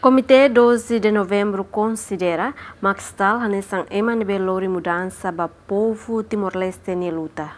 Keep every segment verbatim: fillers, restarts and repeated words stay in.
Komité doze de Novembru konsidera Max Stahl hanesan ema ne'ebé lori mudansa ba povu Timor-Leste nia luta.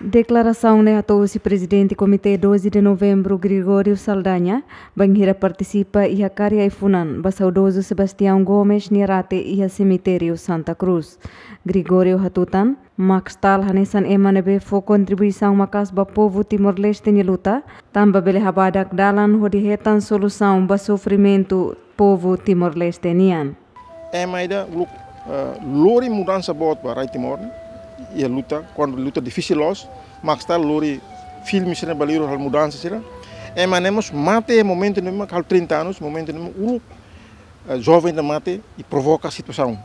Deklarasaun ne'e hato'o husi Prezidente Komité doze de Novembru, Gregório Saldanha, bainhira partisipa iha karik ai-funan ba saudozu Sebastião Gomes nia rate iha semitériu Santa Cruz. Gregório hatutan, Max Stahl hanesan ema ne'ebé fó kontribuisaun maka'as ba povu Timor-Leste nia luta, tanba bele habadak dalan hodi hetan solusaun ba sofrimentu povu Timor-Leste nian. Ema ida uluk, eh, lori mudansa boot ba rai Timor ne'e, iha luta, kuandu luta difisil loos, Max Stahl lori filme sira-ne'e ba liur halo mudansa sira. Ema ne'e mós mate momentu ne'ebé mak halo trinta anos, momentu ne'ebé mak uluk, eh, joven ida mate i provoka situasaun.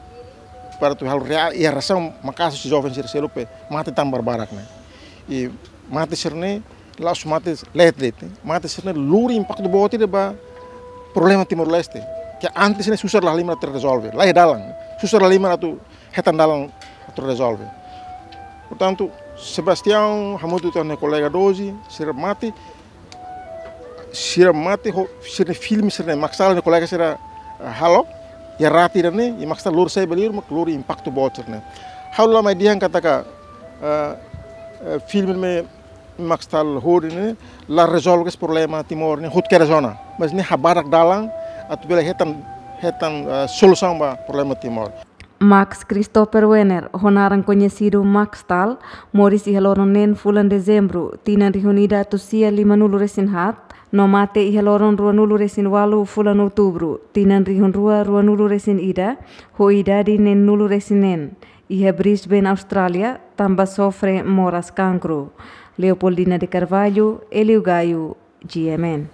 Para atu halo rea-, iha reasaun maka'as husi joven sira seluk pe mate tan barbarak ne'e. I mate sira-ne'e la'ós mate leet de'it, mate sira-ne'e lori impaktu boot ida ba problema Timor-Leste. Ke antes ne'e susar la halimar atu rezolve, laiha dalan. Susar la halimar atu hetan dalan atu rezolve. Portantu, Sebastião, hamutuk ho nia kolega doze, sira mate, sira mate ho, sira-nia filme sira-ne'e, Max Stahl nia kolega sira, eh, halo, iha rate ida-ne'e, i Max Stahl lori sai ba liur, mak lori impaktu boot sira-ne'e. Ha'u la mai dehan katak, eh, eh, filme ne'e Max Stahl hodi ne'e la rezolve esse problema Timor ne'e hotu kedas ona. Mas ne'e habadak dalan atu bele hetan, hetan, eh, solusaun ba problema Timor. Max Christopher Wenner, ho naran koñesidu Max Stahl, moris iha loron neen fulan Dezembru, tinan rihun ida atus sia limanulu resin haat, no mate iha loron ruanulu resin ualu fulan Outubru, tinan rihun rua ruanulu resin ida, ho idade neenulu resin neen, iha Brisbane, Austrália, tanba sofre moras kankru. Leopoldina de Carvalho, Hélio Gaio, G M N.